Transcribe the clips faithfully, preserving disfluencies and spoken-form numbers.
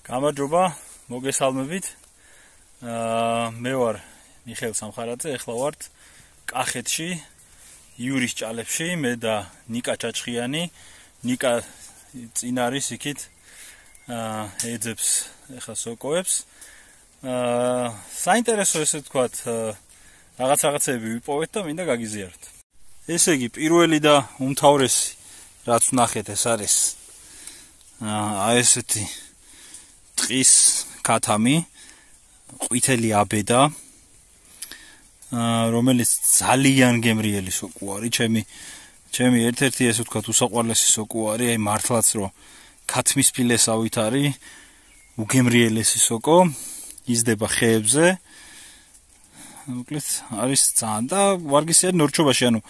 გამარჯობა, მოგესალმებით. მე ვარ მიხეილ სამხარაძე, ეხლა ვართ კახეთში, იურის ჭალებში, მე და ნიკა ჩაჩხიანი. ნიკა წინ არის იქით, ეძებს ეხლა სოკოებს. საინტერესო ესე ვთქვათ, რაღაც რაღაცები ვიპოვეთ და მინდა გაგიზიაროთ. ესე იგი, პირველი და უმთავრესი რაც ვნახეთ, ეს არის აი ესეთი ტყის ქათამი, ყვითელი აბედა, რომელიც ძალიან გემრიელი სოკო არის, ჩემი ჩემი ერთ-ერთი ესე ვთქვათ უსაყვარლესი სოკო არის, აი მართლაც რომ ქათმის ფილესავით არის, უგემრიელესი სოკო, იზრდება ხეებზე. მოკლედ არის ძალიან და ვარგისიერი ნორჩობაში, ანუ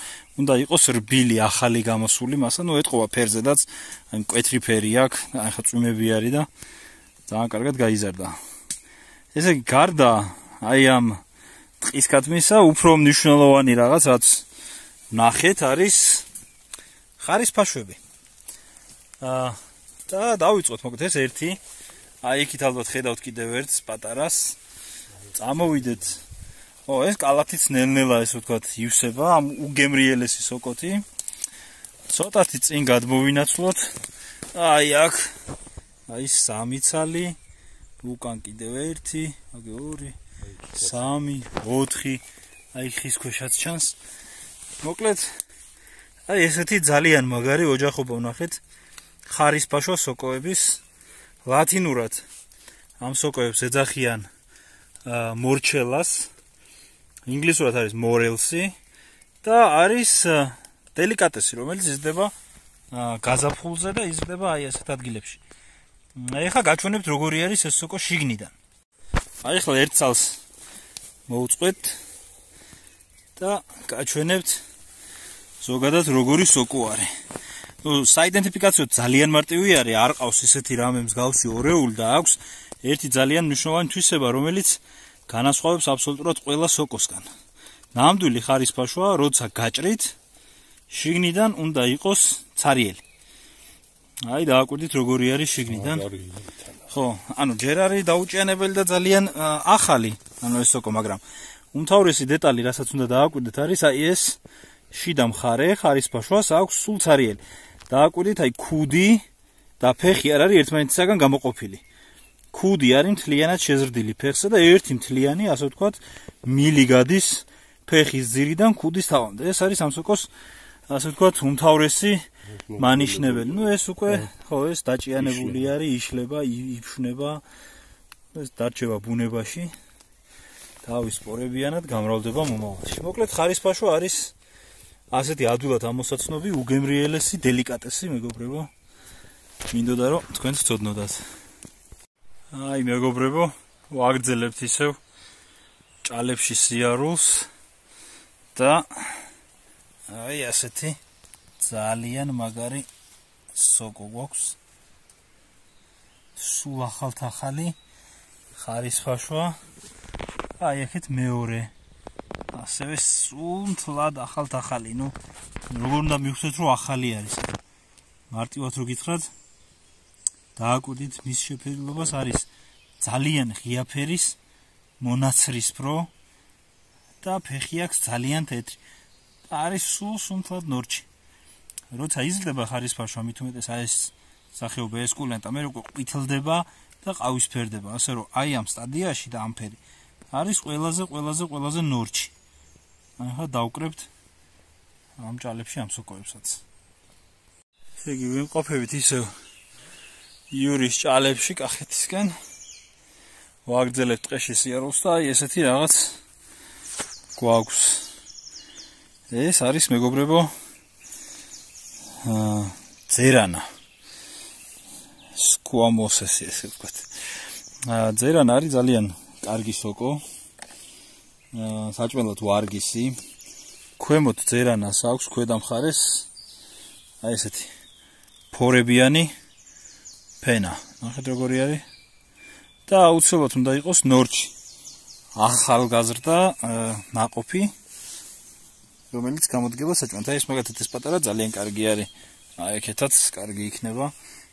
უნდა იყოს რბილი, ახალი გამოსული მასა, ნუ ეთყობა ფერზედაც, აი მკვეთრი ფერი აქვს, აი ხა წვიმები არის და ძალიან კარგად გაიზარდა. ესე იგი, გარდა აი ამ ტყის ქათმისა, უფრო მნიშვნელოვანი რაღაც, რაც ვნახეთ, არის ხარისფაშვები. აა და დავიწყოთ, მოკლედ ეს ერთი, აი იქით ალბათ ხედავთ კიდევ ერთს პატარას. წამოვიდეთ. ო, ეს კალათიც ნელ-ნელა ესე ვთქვათ ივსება, ამ უგემრიელესი სოკოთი. ცოტათი წინ გადმოვინაცვლოთ. აი აქ, აი სამი ცალი, უკან კიდევ ერთი, აგი ორი, სამი, ოთხი, აი ხის ქვეშაც ჩანს. მოკლედ, აი ესეთი ძალიან მაგარი ოჯახობა ვნახეთ ხარისფაშვა სოკოების. ლათინურად ამ სოკოებს ეძახიან მორჩელას, ინგლისურად არის მორელსი და არის დელიკატესი, რომელიც იზრდება გაზაფხულზე და იზრდება აი ასეთ ადგილებში. ეხლა გაჩვენებთ როგორი არის ეს სოკო შიგნიდან. აი ახლა ერთ წელს მოვუწყვეთ და გაჩვენებთ ზოგადად როგორი სოკო არის. ნუ საიდენტიფიკაციოდ ძალიან მარტივი არის, არ ყავს ისეთი რამე მსგავსი ორეული და აქვს ერთი ძალიან მნიშვნელოვანი თვისება, რომელიც განასხვავებს აბსოლუტურად ყველა სოკოსგან. ნამდვილი ხარისფაშვა, როცა გაჭრით, შიგნიდან უნდა იყოს ცარიელი. აი დააკვირდით როგორი არის შიგნიდან. ხო, ანუ ჯერ არის დაუჭიანებელი და ძალიან ახალი, ანუ ეს სოკო, მაგრამ უმთავრესი დეტალი, რასაც უნდა დააკვირდეთ, არის აი ეს შიდა მხარე ხარისფაშვას აქვს სულ ცარიელი. დააკვირდით, აი ქუდი და ფეხი არ არის ერთმანეთისაგან გამოყოფილი. ქუდი არის მთლიანად შეზრდილი ფეხზე და ერთი მთლიანი, ასე ვთქვათ, მილი გადის ფეხის ძირიდან ქუდის თავამდე. ეს არის ამ სოკოს, ასე ვთქვათ, უმთავრესი მანიშნებელი. ნუ ეს უკვე, ხო, ეს დაჭიანებული არის, იშლება, იფშნება, ეს დარჩება ბუნებაში. თავის სპორებიანად გამრავლდება მომავალში. მოკლედ ხარისფაშვა არის ასეთი ადვილად ამოსაცნობი, უგემრიელესი, დელიკატესი, მეგობრებო. მინდოდა რომ თქვენც ვცოდნოდათ. აი მეგობრებო, ვაგრძელებთ ისევ ჭალებში სიარულს და აი ასეთი ძალიან მაგარი სოკო გვაქვს. სულ ახალ-ახალი ხარისფაშვა. აი აქეთ მეორე. ასევე სულ მთლად ახალ-ახალი. ნუ როგორ უნდა მივხვდეთ რომ ახალი არის. მარტივად რო გითხრათ, დააკვირდით მის შეფერილობას, არის ძალიან ღია ფერის, მონაცრისფრო და ფეხი აქვს ძალიან თეთრი. არის სულ სუნთლად ნორჩი. როცა იზრდება ხარისფაშვა, მით უმეტეს აი ეს სახეობა ესკულენტა, მე უკვე ყვითლდება და ყავისფერდება, ასე რომ აი ამ სტადიაში და ამ ფერი არის ყველაზე ყველაზე ყველაზე ნორჩი. ახლა დავკრებთ ამ ჭალებში ამ სოკოებსაც. ესე იგი, ვიმყოფებით ისევ იურის ჭალებში კახეთისკენ. ვაგრძელებთ ტყეში სიარულს და აი ესეთი რაღაც გვაქვს. ეს არის მეგობრებო ძერანა. სკუამოსესი ესე ვთქვათ. ძერანა არის ძალიან კარგი სოკო. საჭმელად ვარგისი. ქვემოთ ძერანას აქვს ქვედა მხარეს აი ესეთი ფორებიანი ფენა. ნახეთ როგორი არის. და აუცილებლად უნდა იყოს ნორჩი. ახალგაზრდა ნაყოფი, რომელიც გამოდგება საჭმელად. აი ეს მაგათაც ეს პატარა ძალიან კარგი არის. აი აქეთაც კარგი იქნება.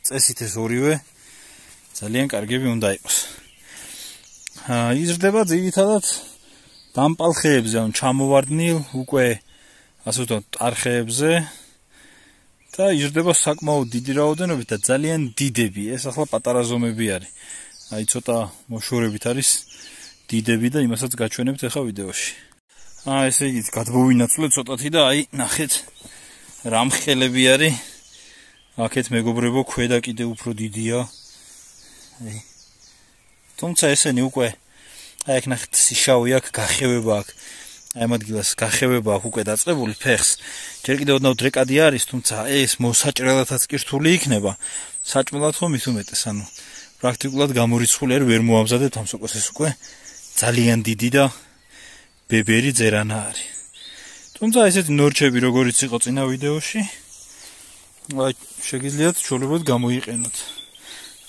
წესით ეს ორივე ძალიან კარგები უნდა იყოს. აა იზრდება ძირითადად დამპალ ხეებზე, ან ჩამოვარდნილ უკვე ასე ვთქვათ, ტარხეებზე და იზრდება საკმაოდ დიდი რაოდენობით და ძალიან დიდები. ეს ახლა პატარა ზომები არის. აი ცოტა მოშორებით არის დიდები და იმასაც გაჩვენებთ ახლა ვიდეოში. აა ესე იგი გადმოვინაცვლეთ ცოტათი და აი ნახეთ რა მხელები არის. აქეთ მეგობრებო ქვედა კიდე უფრო დიდია. აი თუმცა ესენი უკვე აი აქ ნახეთ სიშავი აქ გახევება აქ. აი ამ ადგილას გახევება აქ უკვე დაწყებული ფეხს. ჯერ კიდევ ოდნავ დრეკადი არის, თუმცა ეს მოსაჭრელათაც კი რთული იქნება. საჭმელად ხომ ის უმეტეს, ანუ პრაქტიკულად გამორიცხული არ ვერ მოამზადეთ ამ სოკოს ეს უკვე ძალიან დიდი და ბებერი ძერანა არის. თუმცა ესეთი ნორჩები როგორიც იყო წინა ვიდეოში, აი შეგიძლიათ ჩვეულებრივ გამოიყენოთ.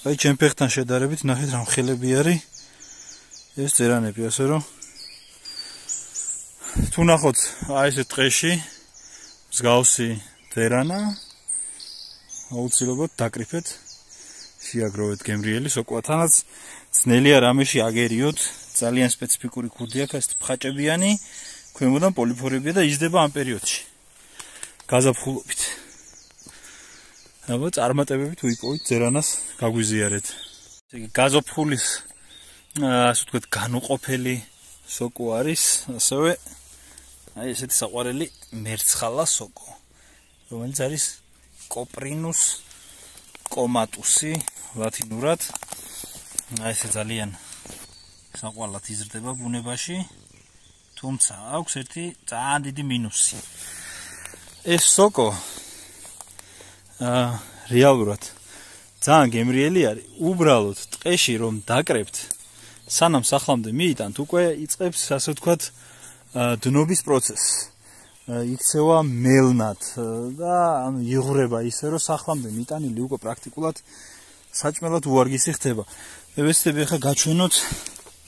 აი ჩემ ფეხთან შედარებით ნახეთ რა მხელები არის ეს ძერანები, ასე რომ თუ ნახოთ აი ეს ტყეში მსგავსი ძერანა აუცილებლად დაკრიფეთ, შეაგროვეთ გემრიელი სოკოა. თანაც ძნელია რამეში აგერიოთ, ძალიან სპეციფიკური ქუდი აქვს, ეს ფხაჭებიანი, ქვემოდან პოლიფორებია და იზრდება ამ პერიოდში. გაზაფხულობით. აბა წარმატებებით უიპოვით ძერანას გაგვიზიარეთ. ესე იგი გაზაფხულის ასე ვთქვათ განუყოფელი სოკო არის, ასევე აი ესეთი საყვარელი მერცხალა სოკო, რომელიც არის კოპრინუს კომატუსი ლათინურად. აი ესე ძალიან საყვარლად იზრდება ბუნებაში, თუმცა აქვს ერთი ძალიან დიდი მინუსი. ეს სოკო აა რეალურად ძალიან გემრიელი არის. უბრალოდ ტყეში რომ დაკრებთ, სანამ სახლამდე მიიტანთ, უკვე იწყებს ასე ვთქვათ დნობის პროცესი. იქცევა მელნად და ანუ იღვრება ისე რომ სახლამდე მიტანილი უკვე პრაქტიკულად საჭმელად უარგისი ხდება. მე ვეცდები ახლა გაჩვენოთ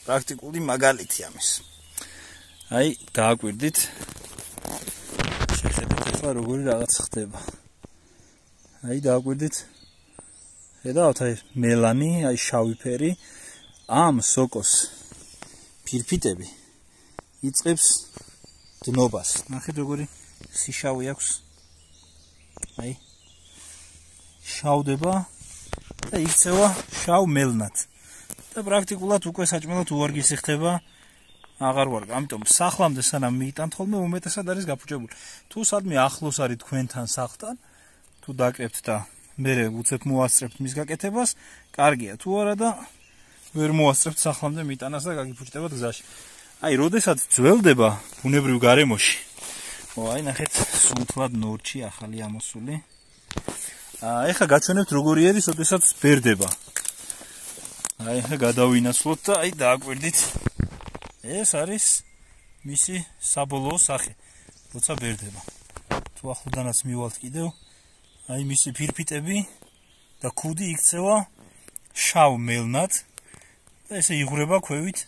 პრაქტიკული მაგალითი ამის. აი დააკვირდით. შეხედეთ ახლა როგორი რაღაც ხდება. აი დააკვირდით. ხედავთ აი მელანი, აი შავი ფერი ამ სოკოს ფირფიტები იწყებს დნობას. ნახეთ როგორი სიშავი აქვს. აი შავდება და იქცევა შავ მელნად. და პრაქტიკულად უკვე საჭმელად უარგისი ხდება. აღარ ვარ. ამიტომ სახლამდე სანამ მიიტანთ ხოლმე უმეტესად არის გაფუჭებული. თუ სადმე ახლოს არის თქვენთან სახლთან, თუ დაკრებთ და მე უცებ მოასწრებთ მის გაკეთებას, კარგია. თუ არა და ვერ მოასწრებთ სახლამდე მიტანას და გაგიფუჭდებათ გზაში. აი, როდესაც ძველდება ბუნებრივ გარემოში. ო, აი, ნახეთ, სუნთლად ნორჩი ახალი ამოსული. აა, ეხლა გაჩვენებთ როგორი არის, როდესაც ბერდება. აი, ეხლა გადავინაცვლოთ და აი, დააკვირდით. ეს არის მისი საბოლოო სახე, როცა ბერდება. თუ ახლოდანაც მივალთ კიდევ, აი, მისი ფირფიტები და ქუდი იქცევა შავ მელნად და ესე იღვრება ქვევით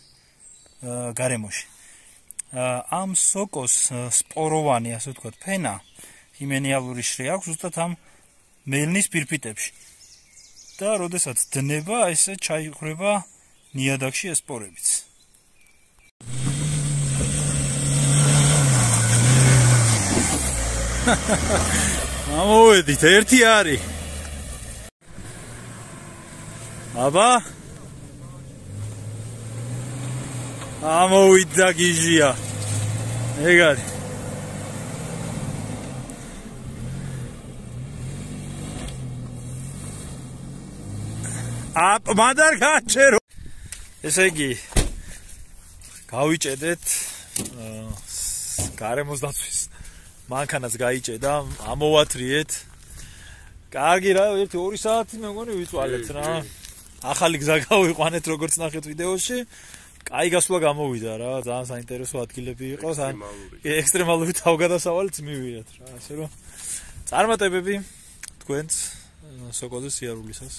გარემოში. ამ სოკოს სპოროვანი, ასე ვთქვათ, ფენა ჰიმენიალური შრე აქვს ზუსტად ამ მელნის ფირფიტებში. და როდესაც დნება, ესე ჩაიღვრება ნიადაგში ეს სპორებიც. ამოვედით, ერთი არის. აბა ამოვიდა გიჟია. ეგ არის. აპ მადარ გაჩერო. ესე იგი გავიჭედეთ გარემოს დაცვის მანქანაც გაიჭედა, ამოვათრიეთ. კარგი რა, ერთი ორი საათი მე მგონი ვიწვალეთ რა. ახალი გზა გავიყვანეთ როგორც ნახეთ ვიდეოში. კაი გასვლა გამოვიდა რა, ძალიან საინტერესო ადგილები იყო, ექსტრემალური თავგადასავალიც მივიღეთ რა, ასე რომ წარმატებები თქვენს სოკოზე სიარულისას.